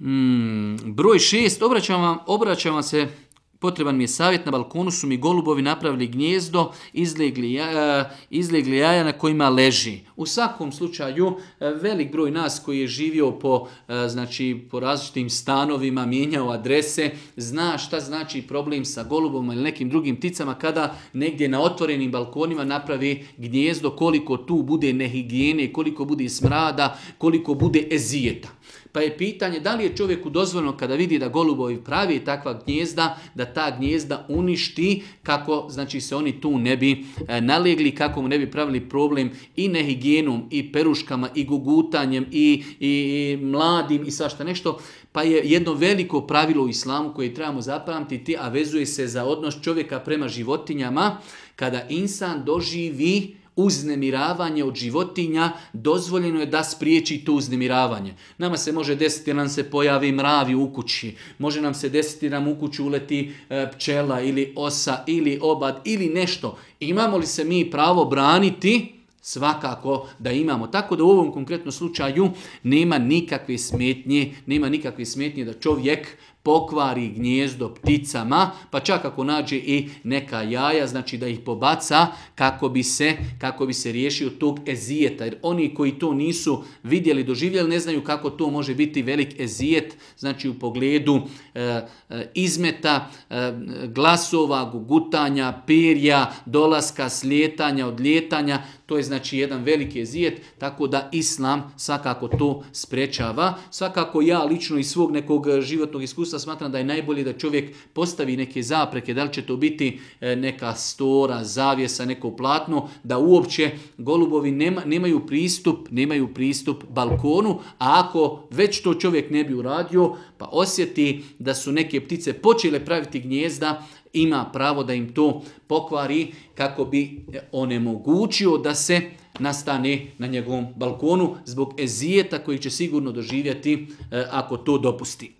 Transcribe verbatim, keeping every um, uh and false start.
Hmm, broj šest, obraćam vam, obraćam vam se, potreban mi je savjet, na balkonu su mi golubovi napravili gnijezdo, izlegli, jaja, izlegli jaja na kojima leži. U svakom slučaju, velik broj nas koji je živio po, znači, po različitim stanovima, mijenjao adrese, zna šta znači problem sa golubom ili nekim drugim pticama kada negdje na otvorenim balkonima napravi gnijezdo, koliko tu bude nehigijene, koliko bude smrada, koliko bude ezijeta. Pa je pitanje da li je čovjeku dozvoljeno kada vidi da golubovi pravi takva gnijezda, da ta gnijezda uništi kako znači se oni tu ne bi e, nalegli, kako mu ne bi pravili problem i nehigijenom, i peruškama, i gugutanjem, i, i, i mladim i svašta nešto. Pa je jedno veliko pravilo u islamu koje trebamo zapamtiti, a vezuje se za odnos čovjeka prema životinjama. Kada insan doživi uznemiravanje od životinja, dozvoljeno je da spriječi to uznemiravanje. Nama se može desiti da nam se pojavi mravi u kući, može nam se desiti da nam u kuću uleti e, pčela ili osa ili obad ili nešto. Imamo li se mi pravo braniti? Svakako da imamo. Tako da u ovom konkretnom slučaju nema nikakve smetnje, nema nikakve smetnje da čovjek pokvari gnijezdo pticama, pa čak ako nađe i neka jaja, znači da ih pobaca kako bi se, kako bi se riješio tog ezijeta. Jer oni koji to nisu vidjeli, doživjeli, ne znaju kako to može biti velik ezijet, znači u pogledu e, e, izmeta, e, glasova, gugutanja, perja, dolaska, slijetanja, odlijetanja. To je znači jedan veliki ezijet, tako da islam svakako to sprečava. Svakako ja lično iz svog nekog životnog iskustva smatram da je najbolje da čovjek postavi neke zapreke, da li će to biti neka stora, zavjesa, neko platno, da uopće golubovi nema, nemaju pristup, nemaju pristup balkonu, a ako već to čovjek ne bi uradio, pa osjeti da su neke ptice počele praviti gnijezda, ima pravo da im to pokvari kako bi onemogućio da se nastane na njegovom balkonu zbog ezijeta koji će sigurno doživjeti ako to dopusti.